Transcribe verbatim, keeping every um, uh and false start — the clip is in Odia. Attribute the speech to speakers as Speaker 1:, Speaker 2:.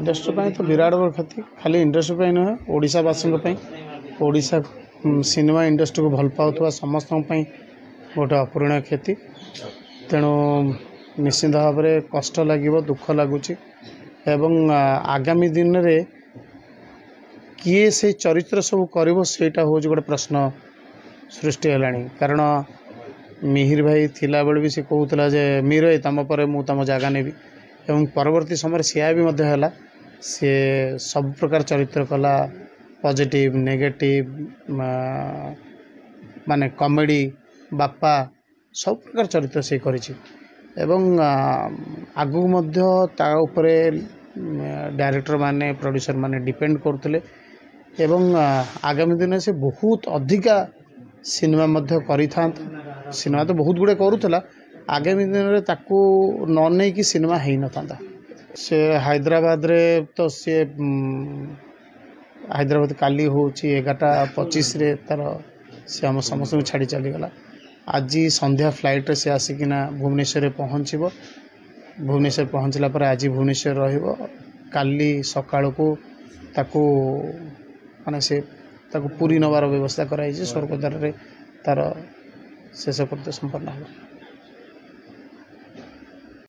Speaker 1: ଇଣ୍ଡଷ୍ଟ୍ରି ପାଇଁ ତ ବିରାଟ ବଡ଼ କ୍ଷତି। ଖାଲି ଇଣ୍ଡଷ୍ଟ୍ରି ପାଇଁ ନୁହେଁ, ଓଡ଼ିଶାବାସୀଙ୍କ ପାଇଁ, ଓଡ଼ିଶା ସିନେମା ଇଣ୍ଡଷ୍ଟ୍ରିକୁ ଭଲ ପାଉଥିବା ସମସ୍ତଙ୍କ ପାଇଁ ଗୋଟେ ଅପୂରଣୀୟ କ୍ଷତି। ତେଣୁ ନିଶ୍ଚିନ୍ତ ଭାବରେ କଷ୍ଟ ଲାଗିବ, ଦୁଃଖ ଲାଗୁଛି। ଏବଂ ଆଗାମୀ ଦିନରେ କିଏ ସେଇ ଚରିତ୍ର ସବୁ କରିବ, ସେଇଟା ହେଉଛି ଗୋଟେ ପ୍ରଶ୍ନ ସୃଷ୍ଟି ହେଲାଣି। କାରଣ ମିହିର ଭାଇ ଥିଲାବେଳେ ବି ସେ କହୁଥିଲା ଯେ ମିହିର ଭାଇ, ତୁମ ପରେ ମୁଁ ତୁମ ଜାଗା ନେବି, ଏବଂ ପରବର୍ତ୍ତୀ ସମୟରେ ସେୟା ବି ମଧ୍ୟ ହେଲା। ସିଏ ସବୁ ପ୍ରକାର ଚରିତ୍ର କଲା, ପଜିଟିଭ୍, ନେଗେଟିଭ୍, ମାନେ କମେଡ଼ି, ବାପା, ସବୁ ପ୍ରକାର ଚରିତ୍ର ସେ କରିଛି। ଏବଂ ଆଗକୁ ମଧ୍ୟ ତା ଉପରେ ଡାଇରେକ୍ଟର ମାନେ, ପ୍ରଡ୍ୟୁସର ମାନେ ଡିପେଣ୍ଡ କରୁଥିଲେ, ଏବଂ ଆଗାମୀ ଦିନରେ ସେ ବହୁତ ଅଧିକା ସିନେମା ମଧ୍ୟ କରିଥାନ୍ତା। ସିନେମା ତ ବହୁତ ଗୁଡ଼ିଏ କରୁଥିଲା, ଆଗାମୀ ଦିନରେ ତାକୁ ନ ନେଇକି ସିନେମା ହେଇନଥାନ୍ତା। ସେ ହାଇଦ୍ରାବାଦରେ ତ ସିଏ ହାଇଦ୍ରାବାଦ କାଲି ହେଉଛି ଏଗାରଟା ପଚିଶରେ ତା'ର ସେ ଆମ ସମସ୍ତଙ୍କୁ ଛାଡ଼ି ଚାଲିଗଲା। ଆଜି ସନ୍ଧ୍ୟା ଫ୍ଲାଇଟ୍ରେ ସେ ଆସିକିନା ଭୁବନେଶ୍ୱରରେ ପହଞ୍ଚିବ। ଭୁବନେଶ୍ୱର ପହଞ୍ଚିଲା ପରେ ଆଜି ଭୁବନେଶ୍ୱର ରହିବ, କାଲି ସକାଳକୁ ତାକୁ ମାନେ ସେ ତାକୁ ପୁରୀ ନେବାର ବ୍ୟବସ୍ଥା କରାଯାଇଛି। ସ୍ୱର୍ଗଦ୍ୱାରରେ ତା'ର ଶେଷକୃତ୍ୟ ସମ୍ପନ୍ନ ହେବ।